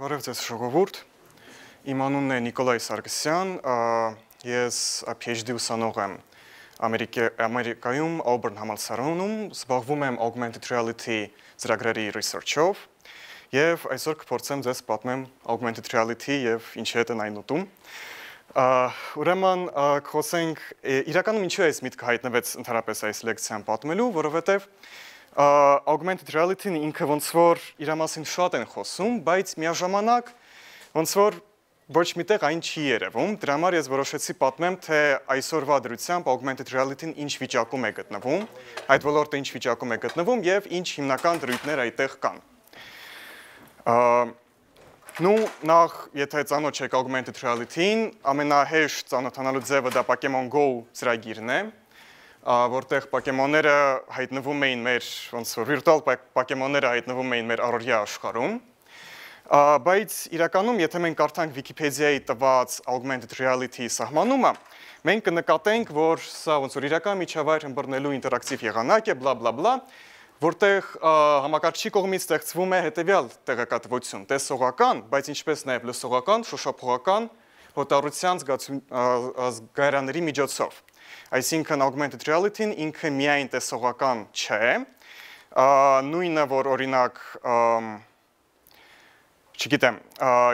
Բարև ձեզ ժողովուրդ, իմ անունն է Նիկոլայ Սարգսյան, ես PhD ուսանող եմ Ամերիկայում Auburn համալսարանում, զբաղվում եմ Augmented Reality ծրագրերի research-ով և այսօր կփորձեմ ձեզ պատմեմ Augmented Reality և ինչի հետ են այն ուտում։ Ուրեմն խոսենք իրականում ինչու է այս միտքը հայտնվեց ընդհանրապես այս լեկցիան պատմելու, որովհետև Augmented Reality-ն ինքը ոնց որ իր մասին շատ են խոսում, բայց միաժամանակ ոնց որ ոչ միտեղ այն չի երևում, դրա համար ես որոշեցի պատմեմ, թե այսօրվա դրությամբ Augmented Reality-ն ինչ վիճակում է գտնվում, այդ ոլորտը ինչ վիճակում է գտնվում և ինչ հիմնական դրույթներ այդտեղ կան։ Նախ, եթե ծանոթ չեք Augmented Reality-ին, ամենահեշտ ծանոթանալու ձևը դա Pokemon Go ծրագիրն է, որտեղ պոկեմոնները հայտնվում էին մեր, ոնց որ վիրտուալ պոկեմոնները հայտնվում էին մեր առօրյա աշխարհում, բայց իրականում, եթե մենք կարդանք Վիկիպեդիայի տված Augmented Reality սահմանումը, մենք կնկատենք, որ սա ոնց որ իրական միջավայր ըմբռնելու ինտերակտիվ եղանակ է, բլա բլա բլա, որտեղ համակարգչի կողմից ստեղծվում է հետևյալ տեղեկատվություն, տեսողական, բայց ինչպես նաև լսողական, շոշափողական, հոտառության զգայարանների միջոցով։ Այսինքն Augmented Reality-ն ինքը միայն տեսողական չէ, նույնը, որ օրինակ, չգիտեմ,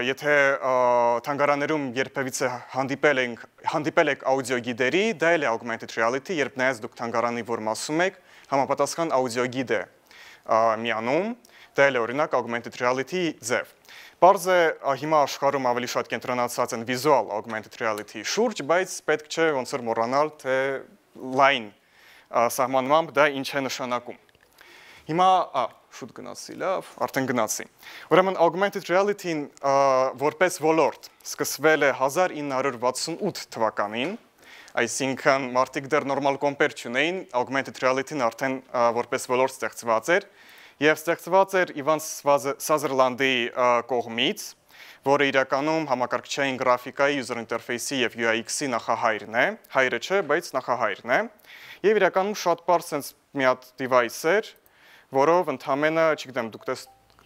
եթե թանգարաններում երբևիցե հանդիպել եք աուդիոգիդերի, դա էլ է Augmented Reality, երբ նայած դուք թանգարանի որ մասում եք, համապատասխան աուդիոգիդ է միանում, դա էլ է օրինակ Augmented Reality ձև։ Պարզ է հիմա աշխարհում ավելի շատ կենտրոնացած են վիզուալ Augmented Reality շուրջ, բայց պետք չէ ոնց որ մոռանալ, թե լայն սահմանմամբ դա ինչ է նշանակում։ Հիմա, շուտ գնացի, լավ, արդեն գնացի։ Ուրեմն Augmented Reality-ն որպես ոլորտ սկսվել է 1968 թվականին, այսինքն մարդիկ դեռ նորմալ կոմպեր չունեին, Augmented Reality-ն արդեն որպես ոլորտ ստեղծված էր, և ստեղծված էր Իվան Սազերլանդի կողմից, որը իրականում համակարգչային գրաֆիկայի, user interface-ի և UX-ի նախահայրն է, հայրը չէ, բայց նախահայրն է, և իրականում շատ պարզ սենց մի հատ device էր, որով ընդամենը, չգիտեմ, դուք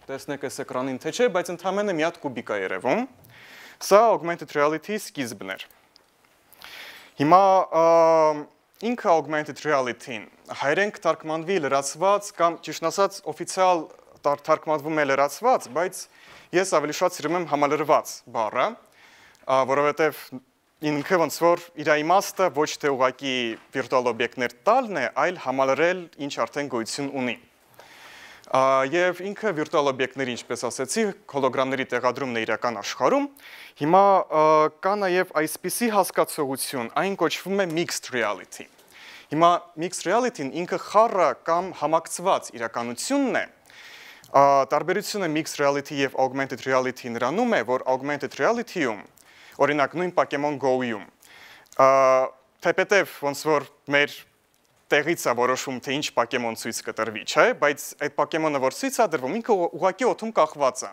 տեսնեք այս էկրանին թե չէ, բայց ընդամենը մի հատ կուբիկ է երևում, սա Augmented Reality-ի սկիզբն էր։ Հիմա ինքը Augmented Reality-ն հայերեն կթարգմանվի լրացված կամ ճիշտ ասած օֆիցիալ թարգմանվում է լրացված, բայց ես ավելի շատ սիրում եմ համալրված բառը, որովհետև ինքը ոնց որ իր իմաստը ոչ թե ուղղակի վիրտուալ օբյեկտներ տալն է, այլ համալրել ինչ արդեն գոյություն ունի։ Եվ ինքը վիրտուալ օբյեկտների, ինչպես ասեցի, հոլոգրամների տեղադրումն է իրական աշխարհում։ Հիմա կա նաև այսպիսի հասկացողություն, այն կոչվում է Mixed Reality։ Հիմա Mixed Reality-ն ինքը խառը կամ համակցված իրականությունն է։ Տարբերությունը Mixed Reality և Augmented Reality նրանում է, որ Augmented Reality-ում, օրինակ նույն Pokemon Go-ում, թեպետև ոնց որ մեր տեղից է որոշում, թե ինչ պոկեմոն ցույց կտրվի, չէ, բայց այդ պոկեմոնը, որ ցույց է դրվում, ինքը ուղղակի օդում կախված է։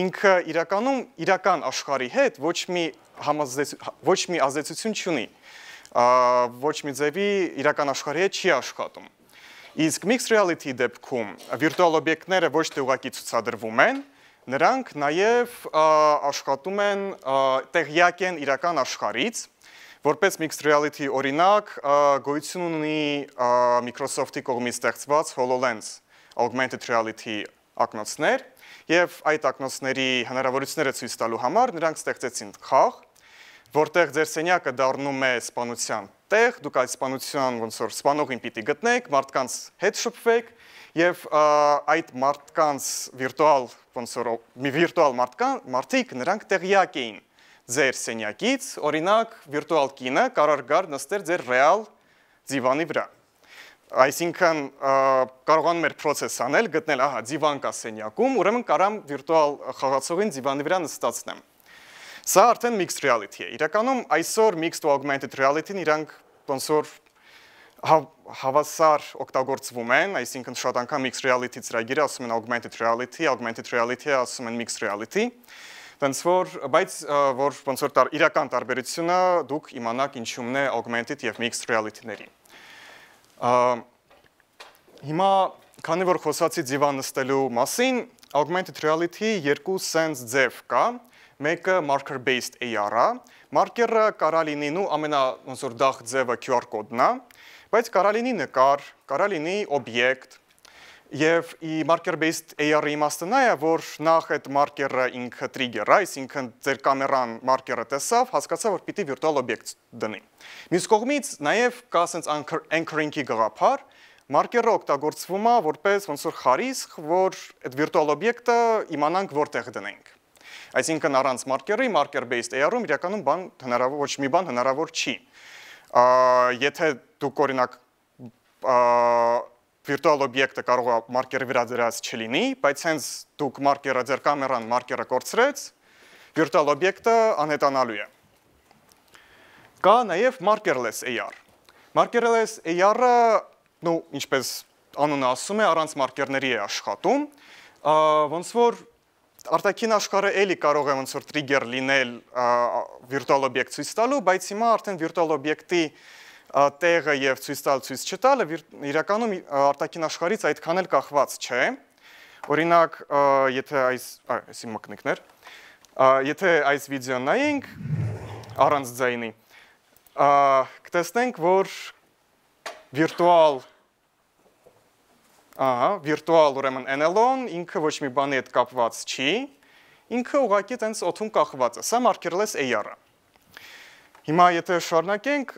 Ինքը իրականում իրական աշխարհի հետ ոչ մի ազդեցություն չունի, ոչ մի ձևի իրական աշխարհի հետ չի աշխատում։ Իսկ Mixed Reality դեպքում վիրտուալ օբյեկտները ոչ թե ուղղակի ցուցադրվում են, նրանք նաև աշխատում են, տեղյակ են իրական աշխարհից, որպես Mixed Reality օրինակ գոյություն ունի Microsoft-ի կողմից ստեղծված HoloLens Augmented Reality ակնոցներ, և այդ ակնոցների հնարավորությունները ցույց տալու համար նրանք ստեղծեցին խաղ, որտեղ ձեր սենյակը դառնում է սպանության տեղ, դուք այդ սպանության ոնց որ սպանողին պիտի գտնեք, մարդկանց հետ շփվեք, և այդ մարդկանց վիրտուալ մարդիկ նրանք տեղյակ էին ձեր սենյակից, օրինակ վիրտուալ կինը կարող գար նստեր ձեր ռեալ ձիվանի վրա։ Այսինքն կարողանում էր պրոցես անել, գտնել, ահա, ձիվան կա սենյակում, ուրեմն կարամ վիրտուալ խաղացողին ձիվանի վրա նստացնեմ։ Սա արդեն Mixed Reality է։ Իրականում այսօր Mixed ու Augmented Reality-ն իրանք ոնց որ հավասար օգտագործվում են, այսինքն շատ անգամ Mixed Reality ծրագիրը ասում են Augmented Reality-ը ասում են Mixed Reality, բայց որ ոնց որ իրական տարբերությունը դուք իմանաք ինչումն է Augmented և Mixed Reality-ների։ Հիմա, քանի որ խոսացի ձիվան նստելու մասին, augmented reality երկու sense ձև կա, մեկը marker based AR-ը, marker-ը կարա լինի նու ամենա ոնց որ դախ ձևը QR կոդն է, բայց կարա լինի նկար, կարա լինի օբյեկտ, եւ marker based AR-ի իմաստը նա է, որ նախ այդ marker-ը ինքը trigger-ը, այսինքն ձեր կամերան marker-ը տեսավ, հասկացա, որ պիտի virtual object դնի։ Մյուս կողմից նաև կա sense anchoring-ի գաղափար, marker-ը օգտագործվում է որպես ոնց որ խարիսխ, որ այդ virtual object-ը իմանանք որտեղ դնենք։ Այսինքն առանց marker-ի, marker based AR-ում իրականում ոչ մի բան հնարավոր չի։ Եթե դուք օրինակ virtual object-ը կարող է marker-ի վրա դրած չլինի, բայց հենց դուք marker-ը ձեր կամերան marker-ը կորցրեց, virtual object-ը անհետանալու է։ Կա նաև markerless AR։ Markerless AR-ը, ինչպես անունը ասում է, առանց marker-ների է աշխատում, ոնց որ արտաքին աշխարհը էլի կարող է ոնց որ trigger լինել virtual object ցույց տալու, բայց հիմա արդեն virtual object-ի տեղը եւ ցույց տալ ցույց չտալը իրականում արտաքին աշխարհից այդքան էլ կախված չէ։ Օրինակ, եթե այսի մկնիկներ, եթե այս վիդեոն նայենք առանց ձայնի, կտեսնենք, որ virtual ուրեմն NLO-ն ինքը ոչ մի բանի հետ կապված չի, ինքը ուղղակի տենց օդում կախված է, սա markerless AR-ը։ Հիմա եթե շարունակենք,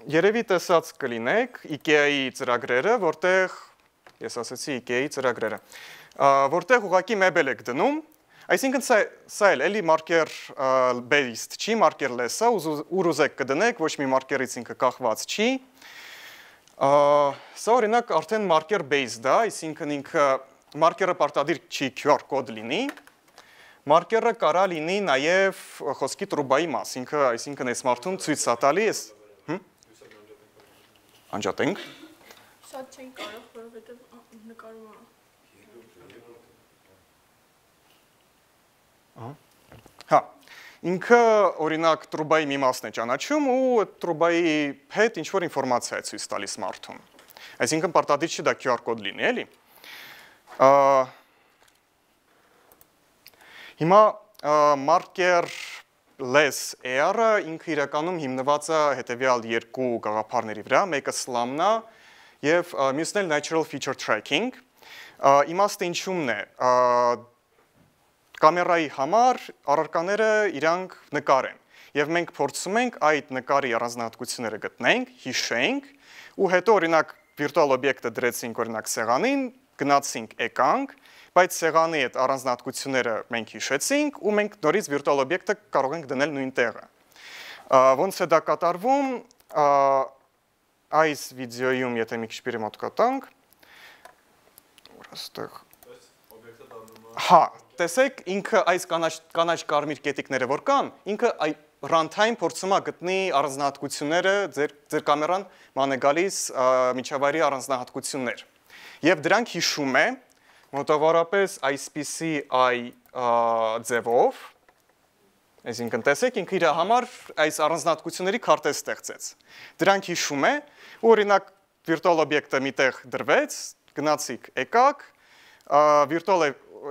երևի տեսած կլինեք IKEA-ի ծրագրերը, որտեղ, ես ասացի IKEA-ի ծրագրերը, որտեղ ուղղակի մեբել եք դնում, այսինքն սա էլի marker based չի, markerless-ը, ուր ուզեք կդնեք, ոչ մի marker-ից ինքը կախված չի, սա օրինակ արդեն marker based է, այսինքն ինքը marker-ը պարտադիր չի QR կոդ լինի, marker-ը կարա լինի նաև խոսքի տրուբայի մաս, այսինքն այս մարդուն ցույց է տալիս, անջատենք։ Շատ չեն կարող, որովհետև նկարում է։ Հա, ինքը օրինակ տրուբայի մի մասն է ճանաչում ու այդ տրուբայի հետ ինչ-որ ինֆորմացիա է ցույց տալիս մարդուն։ Այսինքն պարտադիր չի դա QR կոդ լինի, էլի։ Հիմա markerless AR-ը ինքը իրականում հիմնված է հետևյալ երկու գաղափարների վրա, մեկը SLAM-ն է եւ մյուսն էլ natural feature tracking։ Իմաստը ինչումն է, կամերայի համար առարկաները իրանք նկար են եւ մենք փորձում ենք այդ նկարի առանձնահատկությունները գտնենք, հիշենք ու հետո օրինակ virtual object-ը դրեցինք օրինակ սեղանին, գնացինք, եկանք, բայց սեղանի այդ առանձնահատկությունները մենք հիշեցինք ու մենք նորից virtual object-ը կարող ենք դնել նույն տեղը։ Ոնց է դա կատարվում, այս վիդեոյում, եթե մի քիչ պիրի մոտ կտանք, հա, տեսեք, ինքը այս կանաչ կարմիր կետիկները որ կան, ինքը runtime փորձում է գտնի առանձնահատկությունները, ձեր կամերան ման է գալիս միջավայրի առանձնահատկություններ։ Եվ դրանք հիշում է մոտավորապես այսպիսի ձևով, այսինքն տեսեք, ինքը իր համար այս առանձնահատկությունների քարտեզ ստեղծեց։ Դրանք հիշում է, ու օրինակ virtual object-ը միտեղ դրվեց, գնացիք, եկաք, virtual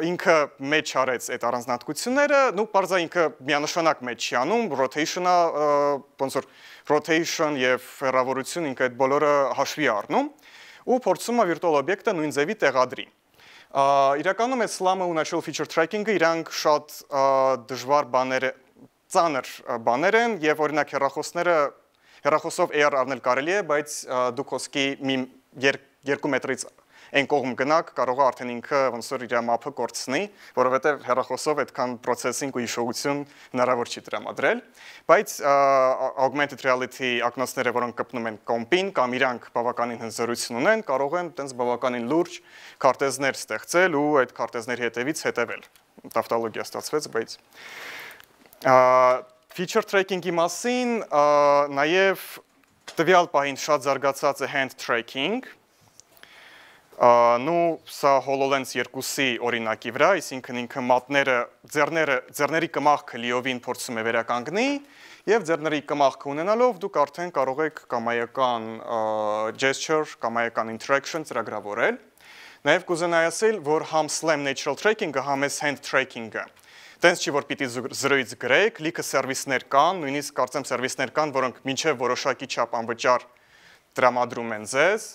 ինքը մեջ արեց այդ առանձնահատկությունները, պարզա ինքը միանշանակ մեջ չի անում, rotation-ը, ոնց որ rotation եւ հեռավորություն ինքը այդ բոլորը հաշվի առնում, ու փորձում է virtual object-ը նույն ձևի տեղադրի։ Իրականում այդ SLAM-ը ու natural feature tracking-ը իրանք շատ դժվար բաներ, ծանր բաներ են եւ օրինակ հեռախոսով AR առնել կարելի է, բայց դուք խոսքի 2 մետրից այն կողմ գնաք, կարող է արդեն ինքը ոնց որ իր մապը կորցնի, որովհետև հեռախոսով այդքան processing ու հիշողություն հնարավոր չի տրամադրել, բայց augmented reality ակնոցները, որոնք կպնում են կոմպին կամ իրանք բավականին հնձորություն ունեն, կարող են տենց բավականին լուրջ քարտեզներ ստեղծել ու այդ քարտեզների հետևից հետևել։ Տավտոլոգիա ստացվեց, բայց feature tracking-ի մասին նաև տվյալ պահին շատ զարգացած է hand tracking, սա HoloLens 2-ի օրինակի վրա, այսինքն ինքը մատները, ձեռների կմախքը լիովին փորձում է վերականգնի եւ ձեռների կմախքը ունենալով դուք արդեն կարող եք կամայական gesture, կամայական interaction ծրագրավորել։ Նաև կուզենայի ասել, որ համ SLAM Natural Tracking-ը, համ էս Hand Tracking-ը, տենց չի, որ պիտի զրոյից գրեք, լիքը սերվիսներ կան, նույնիսկ կարծեմ սերվիսներ կան, որոնք մինչև որոշակի չափ անվճար տրամադրում են ձեզ,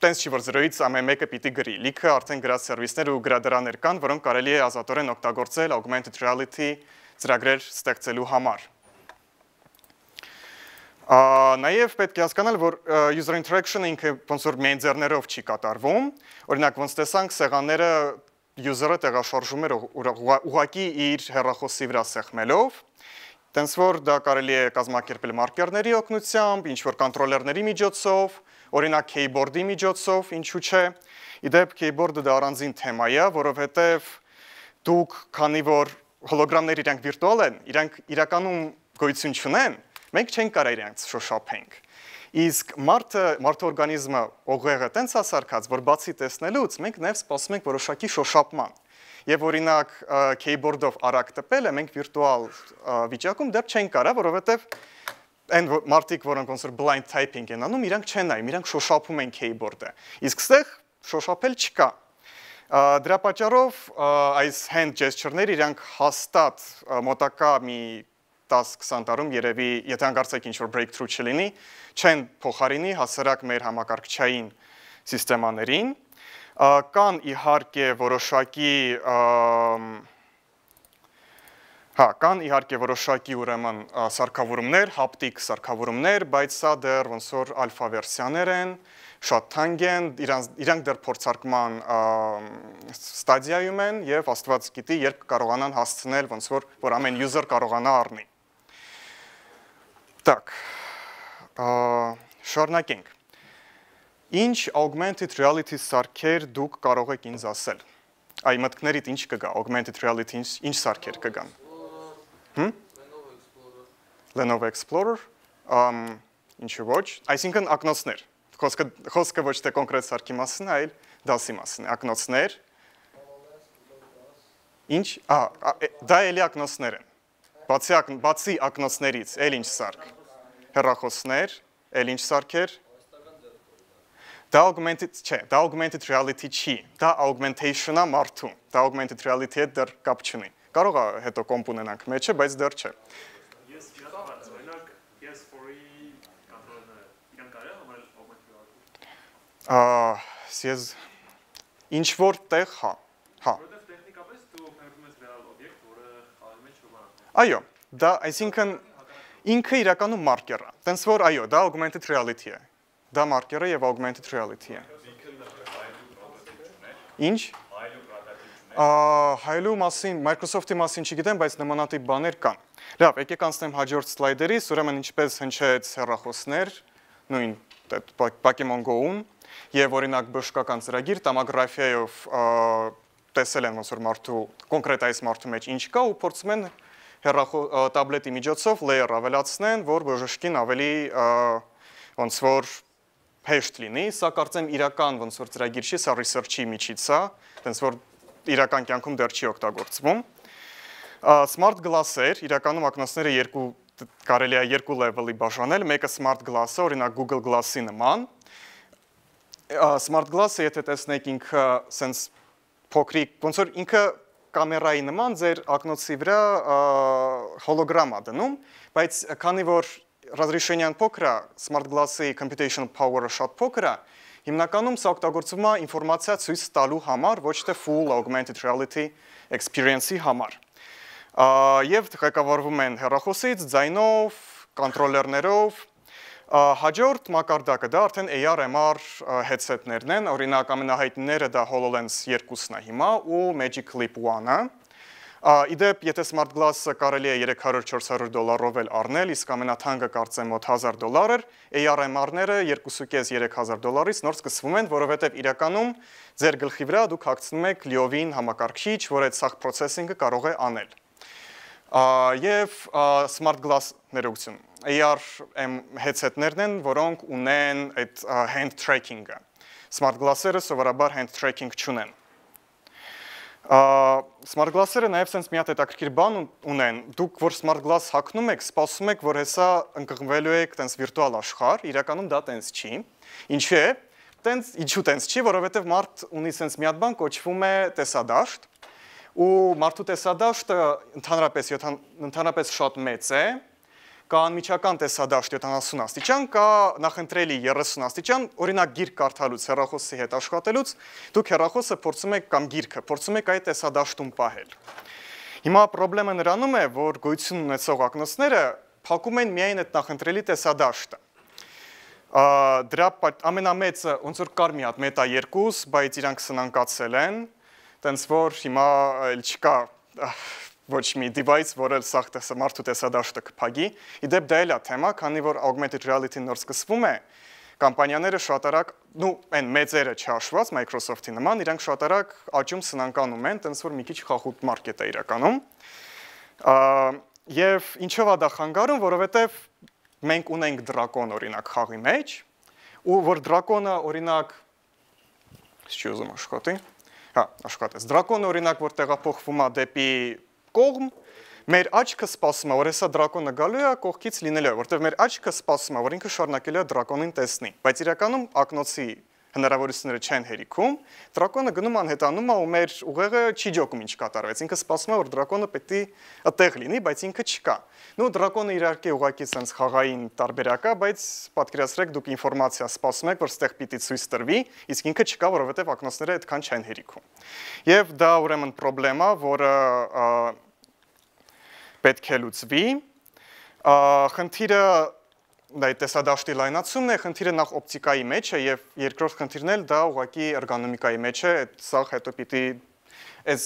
տենց չի, որ զրոյից ամեն մեկը պիտի գրի, լիքը արդեն գրած սերվիսներ ու գրադարաններ կան, որոնք կարելի է ազատորեն օգտագործել augmented reality ծրագրեր ստեղծելու համար։ Նաև պետք է հասկանալ, որ user interaction-ը ինքը ոնց որ միայն ձեռներով չի կատարվում, օրինակ ոնց տեսանք սեղանները user-ը տեղաշարժում էր ուղղակի իր հեռախոսի վրա սեղմելով, տենց որ դա կարելի է կազմակերպել մարկերների օգնությամբ, ինչ-որ կոնտրոլերների միջոցով, օրինակ keyboard-ի միջոցով, ինչու չէ, իդեպ keyboard-ը դա առանձին թեմա է, որովհետև դուք, քանի որ հոլոգրամները իրանք վիրտուալ են, իրանք իրականում գոյություն չունեն, մենք չենք կարող իրանք շոշափենք։ Իսկ մարդը օրգանիզմը օղեղը տենց ասարկած, որ բացի տեսնելուց մենք նաև սպասում ենք որոշակի շոշափման։ Եվ օրինակ keyboard-ով արագ տպելը մենք վիրտուալ վիճակում դեռ չենք կարող, որովհետև այն մարդիկ, որոնք ոնց որ blind typing են անում, իրանք չեն նայում, իրանք շոշափում են keyboard-ը։ Իսկ ստեղ շոշափել չկա։ Դրա պատճառով այս hand gesture-ները իրանք հաստատ մոտակա մի 10-20 տարում երևի, եթե հանկարծեք ինչ-որ breakthrough չլինի, չեն փոխարինի հասարակ մեր համակարգչային սիստեմաներին, կան իհարկե որոշակի ուրեմն սարքավորումներ, հապտիկ սարքավորումներ, բայց սա դեռ ոնց որ ալֆա վերսիաներ են, շատ թանկ են, իրանք դեռ փորձարկման ստադիայում են եւ Աստված գիտի, երբ կարողանան հասցնել ոնց որ ամեն user կարողանա առնի։ Так, շարունակենք։ Ինչ augmented reality սարքեր դուք կարող եք ինձ ասել։ Այ մտքներիդ ինչ կգա, augmented reality ինչ սարքեր կգան։ Lenovo Explorer, ինչու ոչ, այսինքն ակնոցներ։ Խոսքը ոչ թե կոնկրետ սարքի մասին, այլ դասի մասին, ակնոցներ։ Ինչ, դա էլի ակնոցներ են։ Բացի ակնոցներից, էլ ինչ սարք։ Հեռախոսներ, էլ ինչ սարքեր։ Դա augmented reality չի, դա augmentation-ա մարդու, դա augmented reality-ը դեռ կապ չունի։ Կարող է հետո կոմպ ունենանք մեջը, բայց դեռ չէ։ Ես ճիշտ օրինակ PS4-ի կոնտրոլները իրեն կարելի է համարել augmented reality։ Ես ինչ որ տեղ, հա։ Որովհետև տեխնիկապես դու օգտագործում ես ռեալ օբյեկտ, որը խաղի մեջ չուղղակի։ Այո, դա այսինքն ինքը իրականում մարկեր է։ Տենց որ այո, դա augmented reality է։ Դա մարկերը եւ augmented reality է։ Ինչ? Հայլու մասին, Microsoft-ի մասին չգիտեմ, բայց նմանատիպ բաներ կան։ Լավ, եկեք անցնեմ հաջորդ սլայդերից, ուրեմն ինչպես հնչեց հեռախոսներ, նույն Pokemon Go-ուն, եւ օրինակ բժշկական ծրագիր տոմոգրաֆիայով տեսել են ոնց որ մարդու կոնկրետ այս մարդու մեջ ինչ կա ու փորձում են տաբլետի միջոցով layer ավելացնեն, որ բժշկին ավելի ոնց որ հեշտ լինի, սա կարծեմ իրական ոնց որ ծրագիր չի, սա research-ի միջից է, այնց որ իրական կյանքում դեռ չի օգտագործվում։ Smart glass-եր, իրականում ակնոցները կարելի է երկու level-ի բաժանել, մեկը smart glass-ը, օրինակ Google Glass-ի նման։ Smart glass-ը, եթե տեսնեք ինքը sense փոքրիկ, ոնց որ ինքը կամերայի նման ձեր ակնոցի վրա հոլոգրամ է դնում, բայց քանի որ разрешение-ն փոքր է, smart glass-ի computational power-ը շատ փոքր է, հիմնականում սա օգտագործվում է ինֆորմացիա ցույց տալու համար, ոչ թե full augmented reality experience-ի համար։ Եվ ղեկավարվում են հեռախոսից, ձայնով, կոնտրոլերներով։ Հաջորդ մակարդակը դա արդեն AR/MR headset-ներն են, օրինակ ամենահայտնիները դա HoloLens 2-ն է հիմա ու Magic Leap 1-ը։ Իդեպ, եթե smart glass-ը կարելի է $300-400 էլ առնել, իսկ ամենաթանկը կարծեմ մոտ $1000 էր, AR/MR-ները $2500-3000-ից նոր սկսվում են, որովհետև իրականում ձեր գլխի վրա դուք հագցնում եք լիովին համակարգիչ, որ այդ սաղ processing-ը կարող է անել։ Եվ smart glass ներողություն, AR headset-ներն են, որոնք ունեն այդ hand tracking-ը։ Smart glass-երը սովորաբար hand tracking չունեն։ Smart glass-երը նաև sense մի հատ հետաքրքիր բան ունեն, դուք որ smart glass հագնում եք, սպասում եք, որ հեսա ընկղմվելու եք տենց վիրտուալ աշխարհ, իրականում դա տենց չի։ Ինչու է, տենց ինչու տենց չի, որովհետև մարդ ունի սենց մի հատ բան կոչվում է տեսադաշտ, ու մարդու տեսադաշտը ընդհանրապես շատ մեծ է, կա անմիջական տեսադաշտ 70 աստիճան, կա նախընտրելի 30 աստիճան, օրինակ գիրք կարդալուց, հեռախոսի հետ աշխատելուց, դուք հեռախոսը փորձում եք կամ գիրքը փորձում եք այդ տեսադաշտում պահել։ Հիմա խնդրեմը նրանում է, որ գոյություն ունեցող ակնոցները փակում են միայն այդ նախընտրելի տեսադաշտը։ Դրա ամենամեծը ոնց որ կար մի հատ մետա 2, բայց իրանք սնանկացել են, տենց որ հիմա էլ չկա ոչ մի device, որը սաղ մարդու տեսադաշտը կփակի։ Իդեպ դա էլ է թեմա, քանի որ augmented reality-ն նոր սկսվում է, կամպանիաները շատ արագ, այն մեծերը չհաշված Microsoft-ի նման, իրանք շատ արագ աճում սնանկանում են, տենց որ մի քիչ խախուտ մարքետ է իրականում։ Եվ ինչով է դա խանգարում, որովհետև մենք ունենք դրակոն օրինակ խաղի մեջ, ու որ դրակոնը օրինակ, չի ուզում աշխատի, աշխատեց, դրակոնը օրինակ, որ տեղափոխվում է դեպի կողմ, մեր աչքը սպասում է, որ հեսա դրակոնը գալու է, կողքից լինելու է, որտեղ մեր աչքը սպասում է, որ ինքը շարունակելու է դրակոնին տեսնի, բայց իրականում ակնոցի հնարավորությունները չեն հերիքում, դրակոնը գնում անհետանում է ու մեր ուղեղը չի ջոկում ինչ կատարվեց, ինքը սպասում է, որ դրակոնը պետք է այդտեղ լինի, բայց ինքը չկա։ Դրակոնը իհարկե ուղղակի sense խաղային տարբերակ է, բայց պատկերացրեք դուք ինֆորմացիա սպասում եք, որ ստեղ պիտի ցույց տրվի, իսկ ինքը չկա, որովհետև ակնոցները այդքան չեն հերիքում։ Եվ դա ուրեմն խնդրեմ է, որը պետք է լուծվի։ Խնդիրը դա տեսադաշտի լայնացումն է, խնդիրը նախ օպտիկայի մեջ է եւ երկրորդ խնդիրն էլ դա ուղղակի էրգոնոմիկայի մեջ է, սա հետո պիտի այս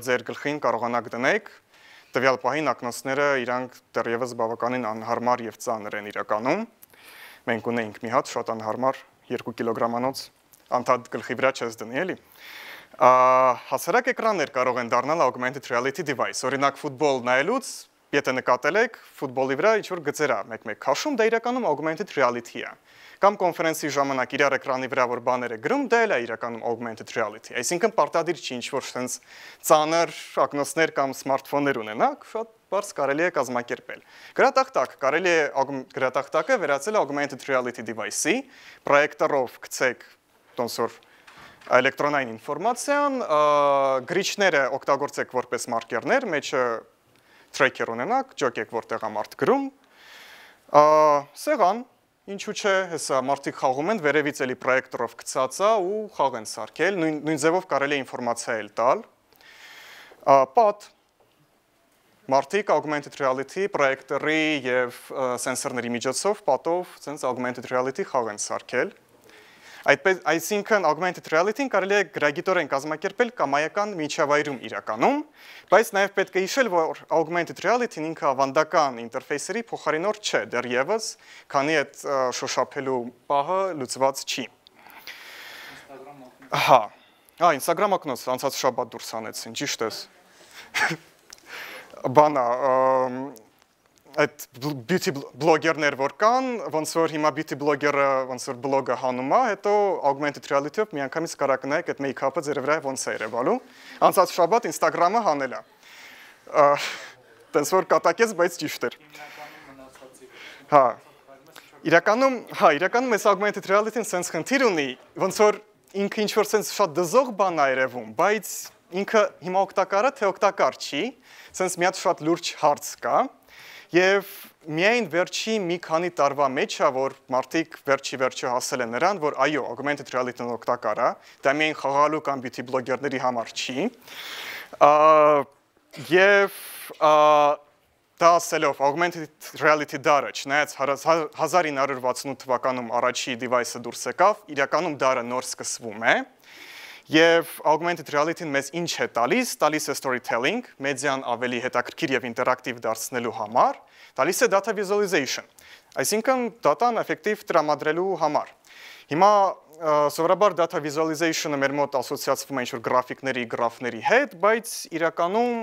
ձեր գլխին կարողանաք դնեք, տվյալ պահին ակնոցները իրանք դեռևս բավականին անհարմար եւ ծանր են իրականում։ Մենք ունեինք մի հատ շատ անհարմար 2 կիլոգրամանոց անդադ գլխի վրա չես դնի, էլի։ Հասարակ էկրաններ կարող են դառնալ augmented reality device, օրինակ ֆուտբոլ նայելուց Եթե նկատել եք, ֆուտբոլի վրա ինչ-որ գծեր է մեկ-մեկ քաշում, դա իրականում augmented reality է։ Կամ կոնֆերենսի ժամանակ իրար էկրանի վրա որ բաներ է գրում, դա էլ է իրականում augmented reality։ Այսինքն պարտադիր չի ինչ-որ sense ծանր ակնոցներ կամ սմարթֆոններ ունենաք, շատ բարձ կարելի է կազմակերպել։ Գրատախտակ կարելի է գրատախտակը վերածել augmented reality device-ի, պրոյեկտորով գցեք ոնց որ էլեկտրոնային ինֆորմացիան, գրիչները օգտագործեք որպես մարկերներ, մեջը tracker ունենաք, ջոկեք որտեղ է մարդ գրում, սեղան, ինչու չէ, հեսա մարդիկ խաղում են, վերևից էլի պրոյեկտորով գցած է ու խաղ են սարքել, նույն ձևով կարելի է ինֆորմացիա էլ տալ, պատ, մարդիկ augmented reality պրոյեկտորի եւ սենսորների միջոցով պատով sense augmented reality խաղ են սարքել։ Այսինքն augmented reality-ն կարելի է գրագիտորեն կազմակերպել կամայական միջավայրում իրականում, բայց նաև պետք է հիշել, որ augmented reality-ն ինքը ավանդական ինտերֆեյսերի փոխարինող չէ, դեռևս, քանի այդ շոշափելու պահը լուծված չի։ Instagram ակնոց, անցած շաբաթ դուրս անեցին, ճիշտ ես։ Բանա, այդ beauty blogger-ներ որ կան, ոնց որ հիմա beauty blogger-ը ոնց որ բլոգը հանում է, հետո augmented reality-ով միանգամից կարա կնայեք այդ make-up-ը ձեր վրա ոնց է երևալու։ Անցած շաբաթ Instagram-ը հանել է։ Տենց որ կատակեց, բայց ճիշտ էր։ Իրականում այս augmented reality-ն sense խնդիր ունի, ոնց որ ինքը ինչ որ sense շատ դզող բան է երևում, բայց ինքը հիմա օգտակար է, թե օգտակար չի, sense մի հատ շատ լուրջ հարց կա։ Եվ միայն վերջի մի քանի տարվա մեջ է, որ մարդիկ վերջի հասել են նրան, որ այո, augmented reality-ն օգտակար է, դա միայն խաղալու կամ beauty blogger-ների համար չի։ Եվ դա ասելով, augmented reality դարը, չնայած 1968 թվականում առաջի device-ը դուրս եկավ, իրականում դարը նոր սկսվում է։ Եվ augmented reality-ն մեզ ինչ է տալիս է storytelling, մեդիան ավելի հետաքրքիր եւ ինտերակտիվ դարձնելու համար, տալիս է data visualization, այսինքն data-ն էֆեկտիվ տրամադրելու համար։ Հիմա սովորաբար data visualization-ը մեր մոտ ասոցիացվում է ինչ-որ գրաֆիկների, գրաֆների հետ, բայց իրականում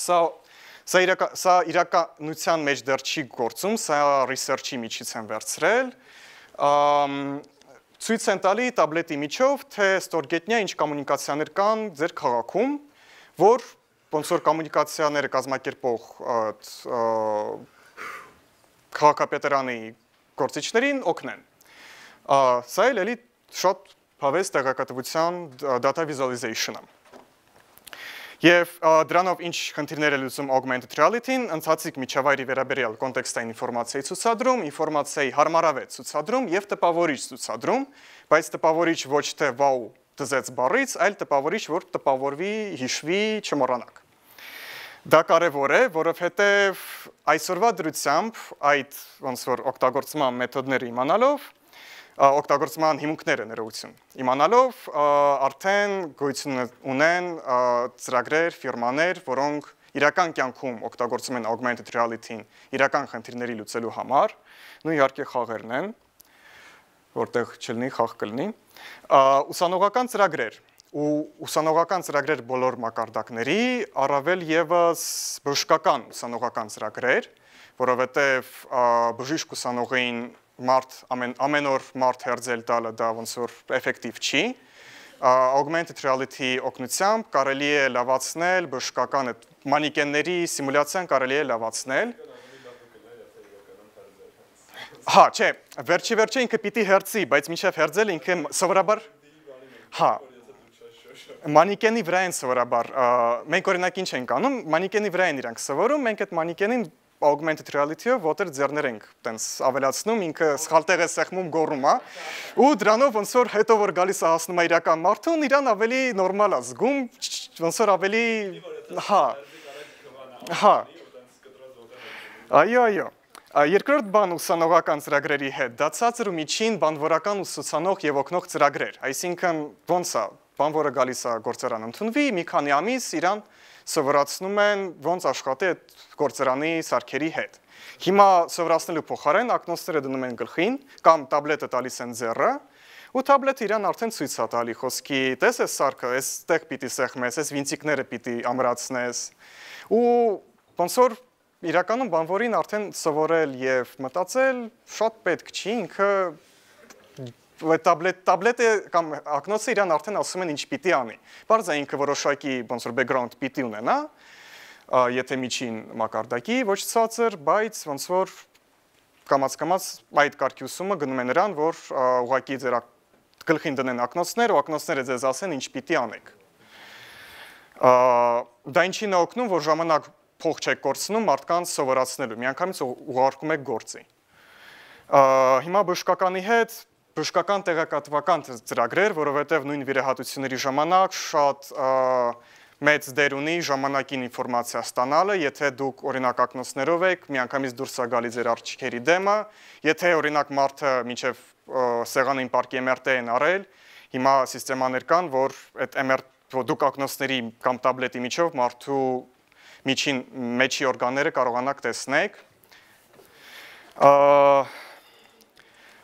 սա իրականության մեջ դեռ չի գործում, սա research-ի միջից են վերցրել, ցույց են տալի տաբլետի միջով, թե ստորգետնյա ինչ կոմունիկացիաներ կան ձեր քաղաքում, որ ոնց որ կոմունիկացիաները կազմակերպող քաղաքապետարանի գործիչներին օգնեն։ Սա էլ էլի շատ հավես տեղեկատվության data visualization-ը։ Եվ դրանով ինչ խնդիրներ է լուծում augmented reality-ն, ընթացիկ միջավայրի վերաբերյալ կոնտեքստային ինֆորմացիայի ցուցադրում, ինֆորմացիայի հարմարավետ ցուցադրում եւ տպավորիչ ցուցադրում, բայց տպավորիչ ոչ թե wow դզեց բառից, այլ տպավորիչ, որ տպավորվի, հիշվի, չմոռանաք։ Դա կարևոր է, որովհետեւ այսօրվա դրությամբ այդ ոնց որ օգտագործման մեթոդները իմանալով օգտագործման հիմունքները ներողություն իմանալով արդեն գոյություն ունեն ծրագրեր, ֆիրմաներ, որոնք իրական կյանքում օգտագործում են augmented reality-ին իրական խնդիրների լուծելու համար, նույն իհարկե խաղերն են, որտեղ չլինի խաղ կլինի, ուսանողական ծրագրեր ու ուսանողական ծրագրեր բոլոր մակարդակների, առավել եւս բժշկական ուսանողական ծրագրեր, որովհետեւ բժիշկ ուսանողին մարդ ամեն օր մարդ հերձել տալը դա ոնց որ էֆեկտիվ չի augmented reality օգնությամբ կարելի է լավացնել բժշկական այդ մանիկենների սիմուլյացիան կարելի է լավացնել հա չէ վերջի ինքը պիտի հերձի բայց մինչև հերձել ինքը սովորաբար հա մանիկենի վրա են սովորաբար մենք օրինակ ինչ ենք անում մանիկենի վրա են իրանք սովորում մենք այդ մանիկենին augmented reality-ով ոտեր ձեռներ ենք տենց ավելացնում, ինքը սխալ տեղ է սեղմում գոռում է, ու դրանով ոնց որ հետո որ գալիս է հասնում է իրական մարդուն, իրան ավելի նորմալ է զգում, ոնց որ ավելի հա այո երկրորդ բան ուսանողական ծրագրերի հետ դա ցածր ու միջին բանվորական ուսուցանող եւ օգնող ծրագրեր, այսինքն ոնց է, բանվորը գալիս է գործարան ընդունվի, մի քանի ամիս իրան սովորացնում են ոնց աշխատի այդ գործարանի սարքերի հետ։ Հիմա սովորացնելու փոխարեն ակնոցները դնում են գլխին կամ տաբլետը տալիս են ձեռը ու տաբլետը իրան արդեն ցույց է տալի խոսքի տես է սարքը, այստեղ պիտի սեղմես, այս վինտիկները պիտի ամրացնես ու ոնց որ իրականում բանվորին արդեն սովորել եւ մտածել շատ պետք չի, ինքը տաբլետը կամ ակնոցը իրան արդեն ասում են ինչ պիտի անի։ Բարձ է ինքը որոշակի ոնց որ background պիտի ունենա, եթե միջին մակարդակի, ոչ ցածր, բայց ոնց որ կամաց այդ կարգի ուսումը գնում է նրան, որ ուղղակի ձեր գլխին դնեն ակնոցներ ու ակնոցները ձեզ ասեն ինչ պիտի անեք։ Դա ինչին է օգնում, որ ժամանակ փող չեք կորցնում մարդկանց սովորացնելու, միանգամից ուղարկում եք գործի։ Հիմա բժշկականի հետ բժշկական տեղեկատվական ծրագրեր, որովհետև նույն վիրահատությունների ժամանակ շատ մեծ դեր ունի ժամանակին ինֆորմացիա ստանալը, եթե դուք օրինակ ակնոցներով եք, միանգամից դուրս է գալի ձեր արջքերի դեմը, եթե օրինակ մարդը մինչև սեղանին պարկի MRT են արել, հիմա սիստեմաներ կան, որ այդ դուք ակնոցների կամ տաբլետի միջով մարդու միջին մեջի օրգանները կարողանաք տեսնեք։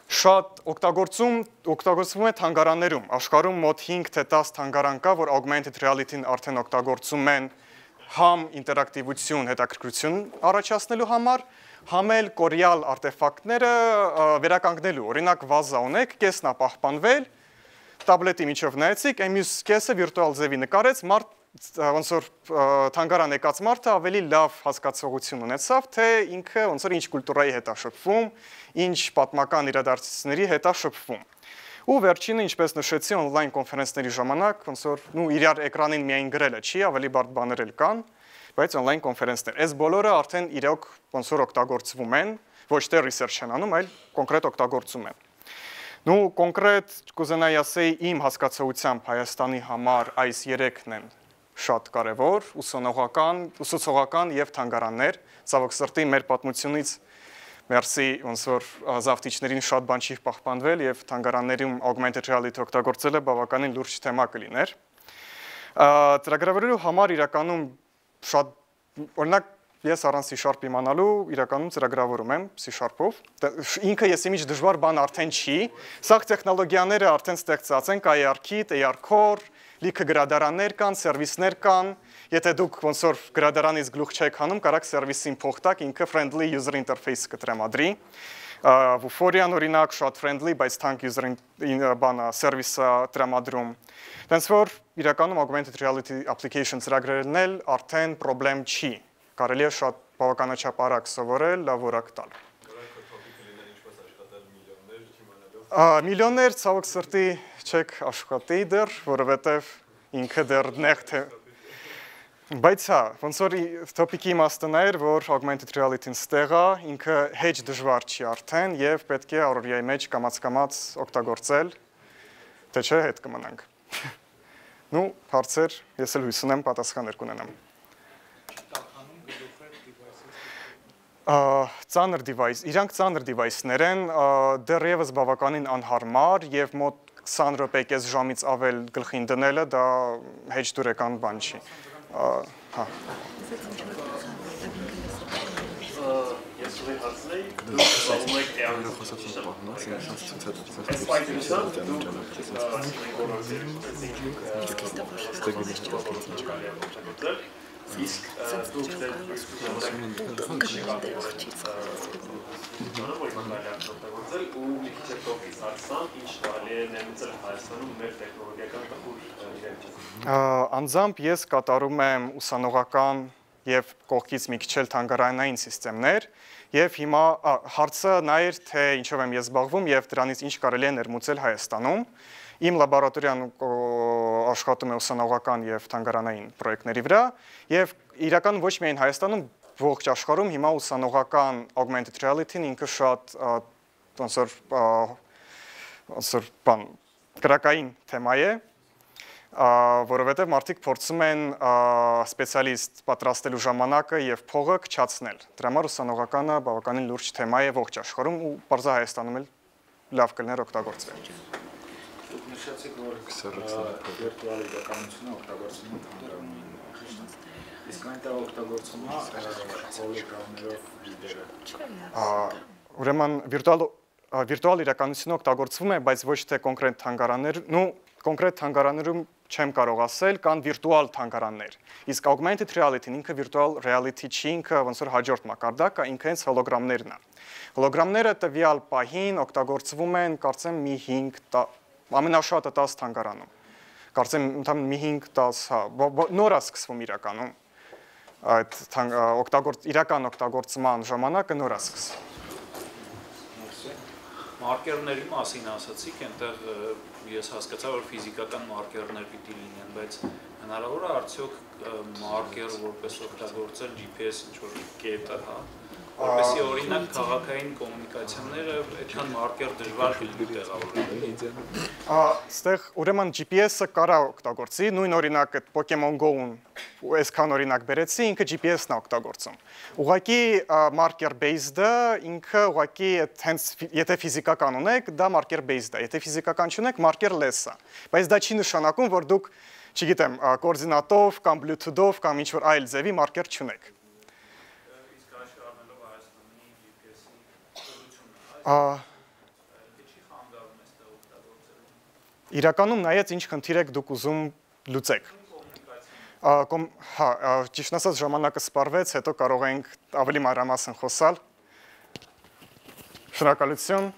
Շատ օգտագործվում է թանգարաններում, աշխարհում մոտ 5 թե 10 թանգարան կա, որ augmented reality-ն արդեն օգտագործում են համ ինտերակտիվություն, հետաքրքրություն առաջացնելու համար, համ էլ կորյալ արտեֆակտները վերականգնելու, օրինակ վազա ունեք, կեսն է պահպանվել, տաբլետի միջով նայեցիք, մյուս կեսը վիրտուալ ձևի նկարեց, մարդ ոնց որ թանգարան եկած մարդը ավելի լավ հասկացողություն ունեցավ, թե ինքը ոնց որ ինչ կուլտուրայի հետ է շփվում, ինչ պատմական իրադարձությունների հետ է շփվում։ Ու վերջինը, ինչպես նշեցի, on-line կոնֆերենցների ժամանակ, ոնց որ իրար էկրանին միայն գրելը չի, ավելի բարդ բաներ էլ կան, բայց on-line կոնֆերենցներ։ Այս բոլորը արդեն իրոք ոնց որ օգտագործվում են, ոչ թե research են անում, այլ կոնկրետ օգտագործում են։ Նու կոնկրետ կուզենայի ասեի իմ հասկացողությամբ Հայաստանի համար այս 3-ն են շատ կարևոր, ուսուցողական եւ թանգարաններ, ցավոք սրտի մեր պատմությունից մերսի ոնց որ զավթիչներին շատ բան չի պահպանվել եւ թանգարաններում augmented reality օգտագործելը բավականին լուրջ թեմա կլիներ։ Ծրագրավորելու համար իրականում շատ օրինակ ես առանց C# իմանալու իրականում ծրագրավորում եմ C#-ով։ Ինքը ես իմիջ դժվար բան արդեն չի, սա տեխնոլոգիաները արդեն ստեղծած են, կա AR-Kit, AR-Core, լիքը գրադարաններ կան, սերվիսներ կան, եթե դուք ոնց որ գրադարանից գլուխ չեք հանում, կարաք սերվիսին փող տաք, ինքը friendly user interface կտրամադրի։ Vuforia-ն օրինակ շատ friendly, բայց թանկ user բանա սերվիսը տրամադրում։ Դենց որ իրականում augmented reality application ծրագրերն էլ արդեն խնդրեմ չի։ Կարելի է շատ բավականաչափ արագ սովորել, լավ որակ տալ։ Միլիոններ ցավոք սրտի չեք աշխատի դեռ, որովհետև ինքը դեռ նեղ թե բայց հա, ոնց որ տոպիկի իմաստն էր, որ augmented reality-ն ստեղ է, ինքը հեչ դժվար չի արդեն եւ պետք է առօրյայի մեջ կամաց օգտագործել, թե չէ հետ կմնանք։ Ну, հարցեր, ես էլ հույս ունեմ պատասխաններ կունենամ։ Ծանր device, իրանք ծանր device-ներ են, դեռևս բավականին անհարմար եւ մոտ 20 րոպե կես ժամից ավել գլխին դնելը դա հեչ դուրեկան բան չի։ Հա։ Ես ուղի հարցնեի, դուք սպասում եք իսկ դուք ու մի քիչ տոպից հարցան, ինչ տալի է ներմուծել Հայաստանում մեր տեխնոլոգիական տխուր իրավիճակը։ Անձամբ ես կատարում եմ ուսանողական եւ կողքից մի քիչ էլ թանգարանային համակարգեր եւ հիմա հարցը նա էր թե ինչով եմ ես զբաղվում եւ դրանից ինչ կարելի է ներմուծել Հայաստանում։ Իմ լաբորատորիան աշխատում է ուսանողական եւ թանգարանային պրոյեկտների վրա եւ իրականում ոչ միայն Հայաստանում, ողջ աշխարհում հիմա ուսանողական augmented reality-ն ինքը շատ ոնց որ բան կրակային թեմա է, որովհետեւ մարդիկ փորձում են սպեցիալիստ պատրաստելու ժամանակը եւ փողը քչացնել։ Դրա համար ուսանողականը բավականին լուրջ թեմա է ողջ աշխարհում ու բարձր Հայաստանում էլ լավ կլներ օգտագործվել։ Դուք նշեցիք, որ վիրտուալ իրականությունը օգտագործվում է թանգարանային ուղղությամբ։ Իսկ այնտեղ օգտագործվում է հոլոգրամներով վիդեո։ Ուրեմն վիրտուալ իրականությունը օգտագործվում է, բայց ոչ թե կոնկրետ թանգարաններ, կոնկրետ թանգարաններում չեմ կարող ասել, կան վիրտուալ թանգարաններ։ Իսկ augmented reality-ն ինքը virtual reality չի, ինքը ոնց որ հաջորդ մակարդակը, ինքը հենց հոլոգրամներն է։ Հոլոգրամները տվյալ պահին օգտագործվում են, կարծեմ մի 5 ամենաշատը 10 թանգարանում։ Կարծեմ ընդհանուր մի 5-10, հա, նոր է սկսվում իրականում։ Այդ իրական օգտագործման ժամանակը նոր է սկսվում։ Մարկերների մասին ասացիք, այնտեղ ես հասկացա, որ ֆիզիկական մարկերներ պիտի լինեն, բայց հնարավոր է արդյոք մարկեր որպես օգտագործել GPS ինչ-որ կետը, հա, որպեսզի օրինակ քաղաքային կոմունիկացիաները այդքան մարկեր դժվար լինի տեղավորել։ Այստեղ ուրեմն GPS-ը կարա օգտագործի, նույն օրինակ այդ Pokemon Go-ն այսքան օրինակ բերեցի, ինքը GPS-ն է օգտագործում։ Ուղղակի marker based-ը ինքը ուղղակի հենց եթե ֆիզիկական ունեք, դա marker based է, եթե ֆիզիկական չունեք, marker-less է։ Բայց դա չի նշանակում, որ դուք, չգիտեմ, կոորդինատով կամ Bluetooth-ով կամ ինչ-որ այլ ձևի marker չունեք։ Իրականում նայած ինչ խնդիր եք դուք ուզում լուծեք։ Հա, ճիշտ ասած ժամանակը սպառվեց, հետո կարող ենք ավելի մանրամասն խոսալ։ Շնորհակալություն։